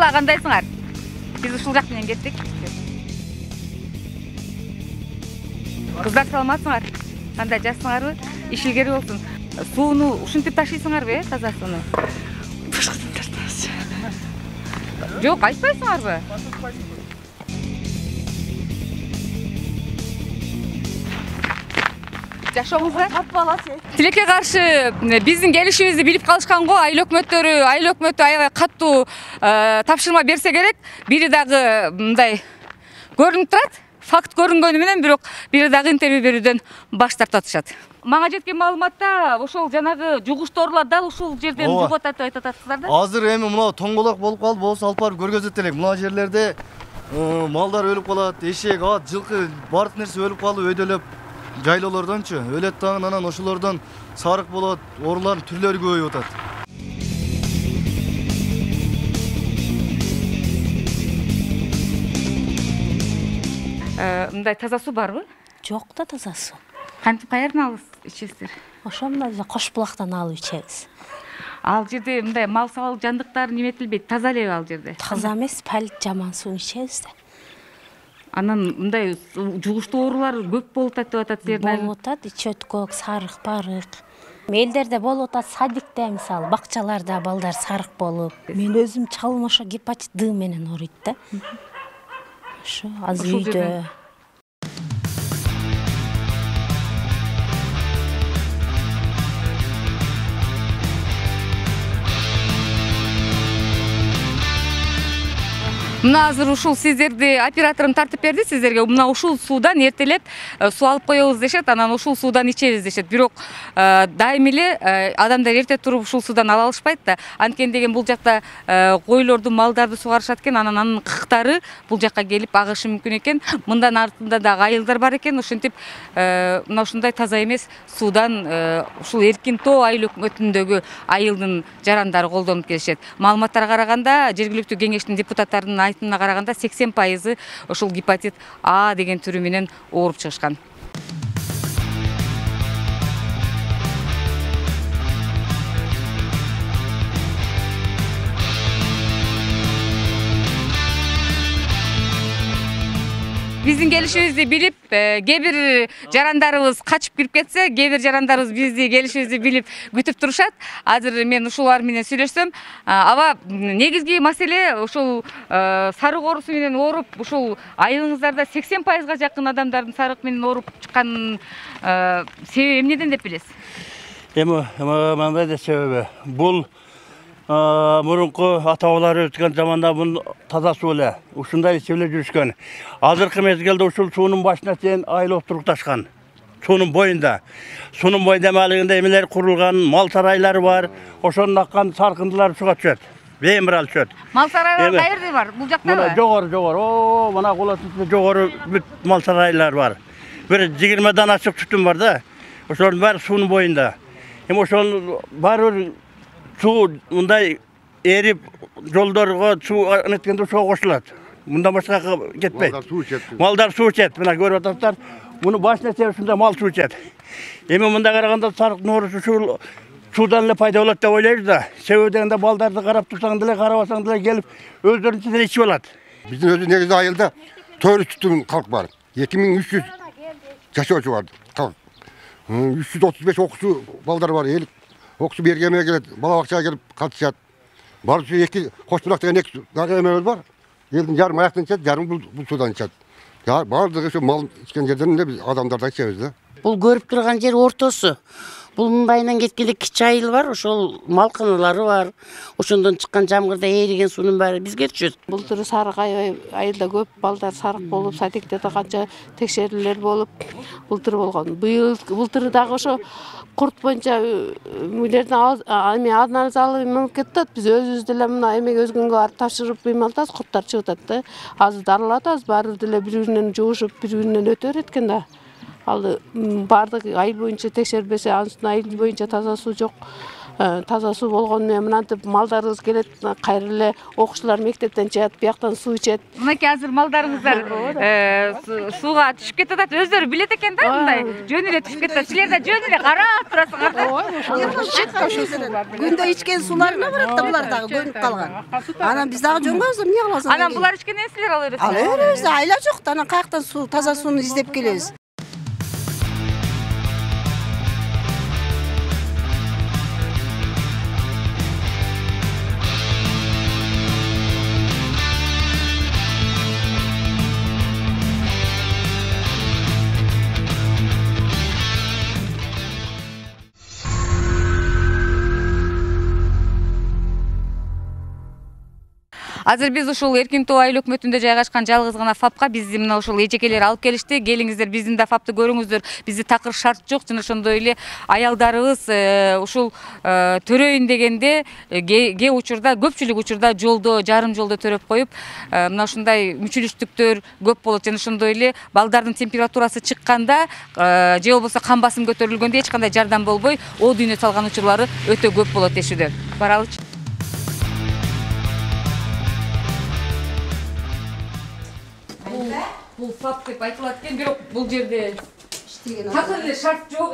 Бала кандайсыңар? Биз ушул жак менен кеттик. Кыздар саламатсыңар? Кандай жассыңарбы? Иш илгери болсун. Сууну ушинтип ташыйсыңарбы, таза сууну? Башкадан тартабыз. Жок, айтпайсыңарбы? Жашооңузга тилекке каршы биздин келишибизди билип калышкан го. Айыл өкмөтү аябай каттуу тапшырма берсе керек. Бири дагы мындай көрүнүп турат. Факт көрүнгөнү менен бирок бири дагы интервью берүүдөн баш тартып атышат. Мага жеткен маалыматта ошол жанагы жугуштоорлор дал ушул жерден жугуп атат деп айтып атасыздар да? Азыр эми мына тоңголок болуп калды, болсо алып барып көргөзөт элек. Мына жерлерде малдар өлүп калат, эшек, ат, жылкы, баардык нерсе өлүп калып, өйдөлөп жайлоолордончу. Өлөт дагы, анан ошолордон сарык болот, оорулардын түрлөрү көбөйүп атат. Мындай таза суу барбы? Жок да таза суу. Кантип каерден алып ичесиздер? Ошо мына Кош булактан алып ичебиз. Ал жерде мындай мал сал жандыктар неметилбейт, таза элеби ал жерде? Таза эмес, палит жаман суу ичебиз да. Анан мындай жугуштуу оорулар көп болуп атат деп атат силердин. Болуп атат, ич өткөк, сарык, барык. Элдерде болуп атат, садикте мисалы, бакчаларда балдар сарык болуп. Мен өзүм чалым ошо гепатит Д менен ооруйт да. Ошо азыр үйдө. Мына азыр ушул сиздерди операторум тартып берди сиздерге. Мына ушул суудан эртелеп суу алып коебуз дешет, анан ушул суудан ичебиз дешет. Бирок дайым эле адамдар эрте туруп ушул суудан ала алышпайт да. Анткени деген бул жакта койлорду, малдарды сугарышат экен, анан кыктары бул жакка келип агышы мүмкүн экен. Мындан артында дагы айылдар бар экен. Ошентип мына ушундай таза эмес суудан ушул Эркин Тоо айыл өкмөтүндөгү айылдын жарандары колдонуп келишет. Маалыматтарга караганда, жергиликтүү кеңештин депутаттарынын айтымына караганда 80% ошол гепатит А деген түрү менен ооруп чыгышкан. Биздин келишибизди билип, кээ бир жарандарыбыз качып кирип кетсе, кээ бир жарандарыбыз бизди келишибизди билип күтүп турушат. Азыр мен ушулар менен сүйлөшсөм, аба негизги маселе ушул сарык оорусу менен ооруп, ушул айылыңыздарда 80%га жакын адамдардын сарык менен ооруп чыкканын себеби эмнеден деп билесиз? Эми мындай да себеби. Бул мурунку ата-бабалар өткөн заманда бул таза суу эле. Ушундай ичип жүрүшкөн. Азыркы мезгилде ушул суунун башына чейин айыл отурукташкан. Суунун боюнда. Суунун боюнда эмелегинде эмелер курулган, мал сарайлары бар. Ошонун аккан саркындылар суга түшөт. Бемирал түшөт. Мал сарайлар каерде бар? Бул жактабы? Жогору. Мына колосунда жогору бүт мал сарайлар бар. Бир 20 дан ачык түтүн бар да. Ошонун баары суунун боюнда. Эми ошол баары суу мындай эрип жолдорго суу неткенде ошого кошулат. Мындан башка кетпейт. Малдар суу ичет. Мына көрүп атасыздар. Муну башына чейин мал суу ичет. Эми мында караганда сарыктын оорусу ушул суудан эле пайда болот деп ойлойбуз да. Себеби дегенде балдарды карап турсаң деле, карабасаң деле келип өздөрүнчө ичип алат. Биздин өзү негизи айылда 400 калк бар. 2300 жашоочу бар. 335 окуучу балдар бар. Окуучу бергеме келет, бала бакчага келип катышат. Баардыгы эки Кош булак деген эки эмебиз бар. Элдин жарым аяктан ичет, жарым бул суудан ичет. Баардыгы ошо мал ичкен жерден эле биз адамдардан ичебиз да. Бул көрүп турган жер ортосу. Бул мындайынан кеткенде кичи айыл бар, ошол малканалары бар. Ошондон чыккан жамгырда эриген суунун баары бизге түшөт. Былтыр сарык айылда көп балдар сарык болуп, садикте да канча текшерүүлөр болуп, былтыр болгон. Былтыр дагы ошо курт боюнча мүлөрдөн анализ алып мамлекет атат. Биз өзүбүз деле мына эмеге өзгөнгө барып тапшырып ыймалтабыз, курттар чыгып атат да. Азыр дарылатабыз, баары деле бири-биринен жугушуп, бири-биринен өтө берет экен да. Ал баардык айыл боюнча текшерилбесе, анын айыл боюнча таза суу жок. таза суу болгону менен мынантип малдарыбыз келет, кайра эле окуучулар мектептен чыгат, бияктан суу ичет. Мынакей азыр малдарыңыздар сууга түшүп кетип атат. Өздөрү билет экен да, мындай жөн эле түшүп кетип. Силер да жөн эле карап турасыңар. Күндө ичкен сууларына барат да, булар дагы көнүп калган. Анан биз дагы жөнгө алсам эмне кыласың? Анан булар ичкенден силер ала бересиңер. Ала беребиз, айла жок да, анан каяктан суу, таза сууну издеп келебиз. Азыр биз ушул Эркин Тоо айыл өкмөтүндө жайгашкан жалгыз гана ФАПка бизди мына ушул эжекелер алып келишти. Келиңиздер, биздин да ФАПты көрүңүздөр. Бизди такыр шарт жок, жана ошондой эле аялдарыбыз ушул төрөйүн дегенде кээ учурда, көпчүлүк учурда жолдо, жарым жолдо төрөп коюп, мына ушундай мүчүлүштүктөр көп болот. Жана ошондой эле балдардын температурасы чыкканда же болбосо кан басым көтөрүлгөндө эч кандай жардам болбой, о дүйнө салган учурлары өтө көп болот дешүүдө. Баралычы. Бул ФАП деп айтылат экен, бирок бул жерде такыр эле шарт жок,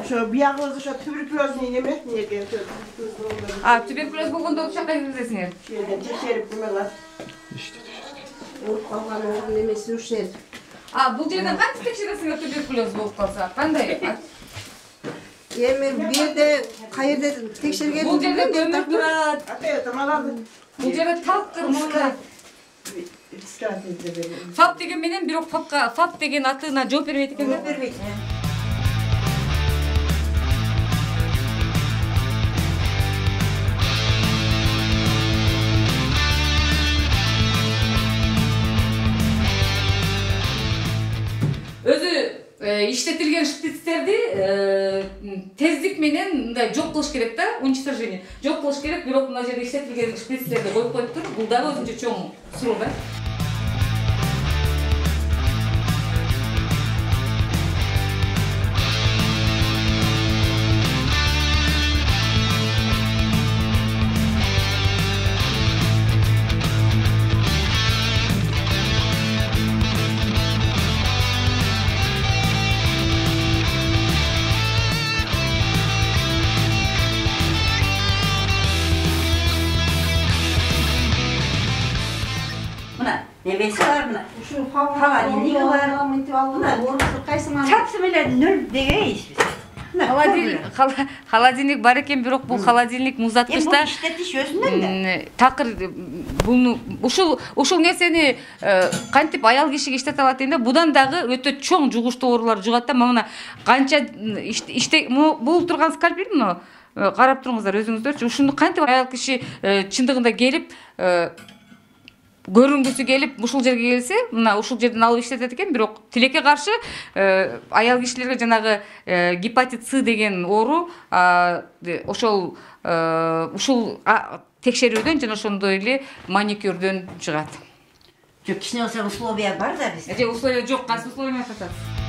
Ошо биягыбыз ошо туберкулезный неме, неге туберкулез болгондо ушул жака киргизесиңер. Текшерип кылат. Ооруп калган оорун эмеси ушул жер. Бул жерден кантип текшересиңер туберкулез болуп калса? Кандай? Эми бу жерде каерде текшерген? Бул жерде көмүр турат. Бул жерде талкыр мындай. ФАП деген менен бирок ФАП деген атына жооп бербейт экен да? Бербейт. Өзү иштетилген шприцтерди тездик менен мындай жок кылыш керек да, уничтожение. Жок кылыш керек, бирок мына жерде иштетилген шприцтерди коюп коюптур. Бул дагы өзүнчө чоң суроо да. Немesi var mı? Ушул холодильниги бар. Орусу кайсыңар? Çapsı bile nül degeyiz biz. Холодильник бар экен, бирок бул холодильник муздаткычта işletiş özünden de. Такыр ушул нерсени кантип аял кишиге иштете алат дегенде, будан дагы өтө чоң жугуштуу оорулар жугат да. Мына канча бул турган скальпель мына карап туруңуздар өзүңүздөрчү. Ушуну кантип аял киши чындыгында келип көрүнгүсү келип ушул жерге келсе, мына ушул жерден алып иштетет экен, бирок тилекке каршы аял кишилерге жанагы гепатит С деген оору ушул текшерүүдөн жана ошондой эле маникюрдөн чыгат. Çok kişinin olsa условия var da biz. Условия жок, кайсы условия атат?